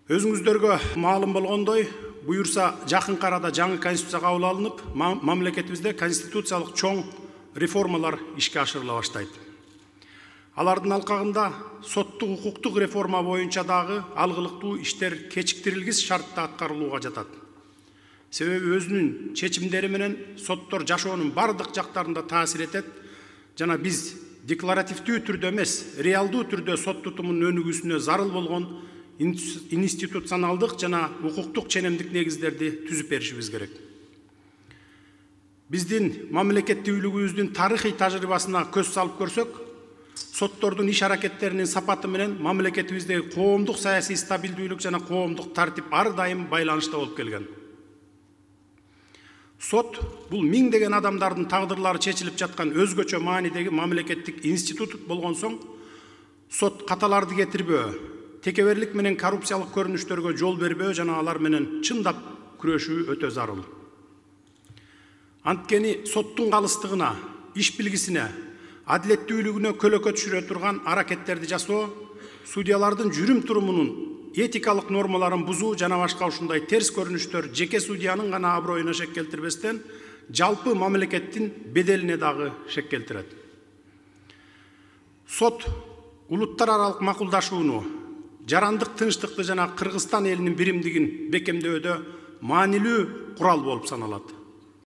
Өзүңүздөргө маалым болгондой, буюрса жакынкы арада жаңы конституция кабыл алынып, мамлекетибизде конституциялык чоң реформалар ишке ашырыла баштайт. Алардын алкагында соттук укуктук реформа боюнча дагы алгылыктуу иштер кечиктирилгис шартта аткарылууга жатат. Себеби өзүнүн чечимдери менен соттор жашоонун бардык жактарында таасир этет жана биз декларативдүү түрдө эмес, реалдуу түрдө сот тутумунун өнүгүүсүнө зарыл болгон институционалдык жана укуктук ченемдик негиздерди түзүп беришибиз керек. Биздин мамлекеттүүлүгүбүздүн тарыхый тажрыйбасына көз салып көрсөк, соттордун иш аракеттеринин сапаты менен мамлекетибиздеги коомдук саясий стабилдүүлүк жана коомдук тартип ар дайым байланышта болуп келген. Сот бул миңдеген адамдардын тагдырлары чечилип жаткан өзгөчө маанидеги мамлекеттик институт болгон соң, сот каталарды кетирбөө, текеберлик менен коррупциялык көрүнүштөргө жол бербөө жана алар менен чындап күрөшүү өтө зарыл. Анткени соттун калыстыгына, иш билгисине, адилеттүүлүгүнө көлөкө түшүрө турган аракеттерди жасоо, судьялардын жүрүм турумунун этикалык нормаларын бузуу жана башка ушундай терс көрүнүштөр жеке судьянын гана аброюна шек келтирбестен, жалпы мамлекеттин беделине дагы шек келтирет. Сот улуттар аралык макулдашууну, жарандык тынчтыкты жана Кыргызстан элинин биримдигин бекемдөөдө маанилүү курал болуп саналат.